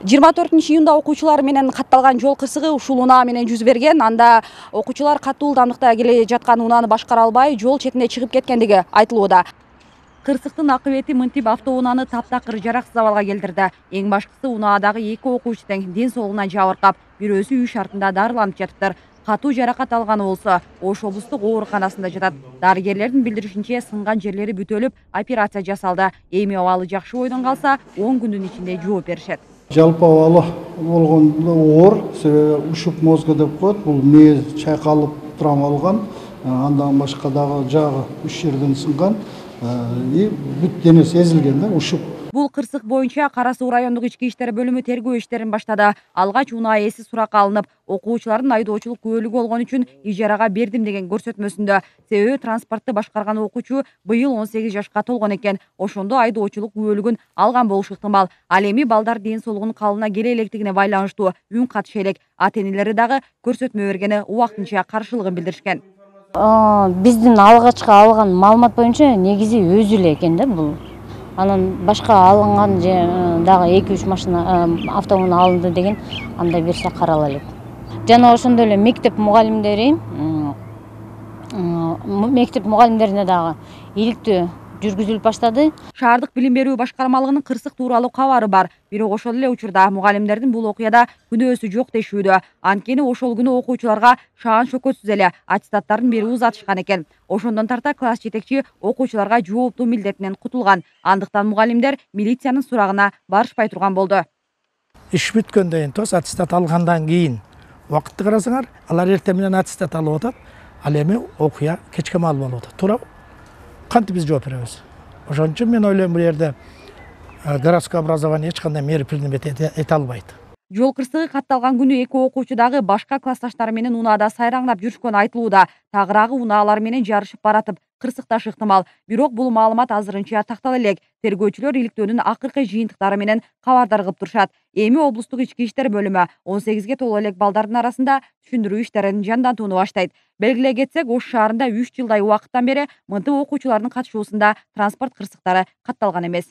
24-июнда окуучулар менен катталган жол кырсыгы ушул унаа менен жүз берген. Анда окуучулар катуу ылдамдыкта келе жаткан унааны башкара албай, жол четине чыгып кеткендиги айтылууда. Кырсыктын акыбети мынтип автоунааны таптакыр жараксыз абалга келтирди. Эң башкысы унаадагы 2 окуучу тең ден соолугуна жабыркап, бирөөсү үй шартында дарыланып жатыптыр. Катуу жаракат алганы болсо, Ош облустук ооруканасында жатат. Дарыгерлердин билдиришинче, сынган жерлери бүтөлүп, операция жасалды. Эми абалы жакшы бойдон калса, 10 күндүн ичинде жооп беришет. Жалпы абалы болгондо оор, себеби ушук мозга деп коет. Бул мээ чайкалып травмалган, андан башка дагы жагы 3 жерден сынган и бүт денеси эзилген да, ушук. Бул кырсык боюнча Кара Суу райондук ички иштер бөлүмү тергөө иштерин баштады. Алгач унаа ээси суракка алынып, окуучулардын айдоочулук күбөлүгү болгон үчүн ижарага бердим деген көрсөтмөсүндө. Себеби транспортты башкарган окуучу быйыл 18 жашка толгон экен. Ошондо айдоочулук күбөлүгүн алган болушу ыктымал. Ал эми балдар ден соолугунун калыбына келе электигине байланыштуу үн катыша элек. Ата-энелери дагы көрсөтмө бергени убактынча каршылыгын билдиришкен. Биздин алгачкы алган маалымат боюнча негизи өзү эле экен да бул. Анан башка алынган дагы 2-3 машина автоунаа алынды деген андай берсе карала элек. Жана ошондой эле мектеп мугалимдерине дагы иликтөө жүргүзүлүп баштады. Шаардык билим берүү башкармалыгынын кырсык тууралуу кабары бар. Бирок ошол эле учурда мугалимдердин бул окуяда күнөөсү жок дешүүдө. Анткени ошол күнү окуучуларга шаан шөкөтсүз эле аттестаттарын берип узатышкан экен. Ошондон тарта класс жетекчи окуучуларга жооптуу милдетинен кутулган. Андыктан мугалимдер милициянын сурагына барышпай турган болду. Иш бүткөндөн тоз аттестат алгандан кийин убакытты карасаңар, алар эртең менен аттестат алып атат. Ал эми окуя кечке маал болуп атат. Туура кантип биз жооп беребиз? Ошон үчүн мен ойлойм, бул жерде городское образование эч кандай мера принимать эте албайт. Жол кырсыгы катталган күнү 2 окуучу дагы башка классташтары менен унаада сайраңдап жүрүшкөнү айтылууда. Тагыраагы унаалар менен жарышып баратып, кырсыкташы ыктымал. Бирок бул маалымат азырынча тактала элек. Тергөөчүлөр иликтөөнүн акыркы жыйынтыктары менен кабардар кылып турушат. Эми облустук ички иштер бөлүмү 18ге толо элек балдардын арасында түшүндүрүү иштерин жандантууну баштайт. Белгилей кетсек, Ош шаарында 3 жылдай убакыттан бери мынтип окуучулардын катышуусунда транспорт кырсыктары катталган эмес.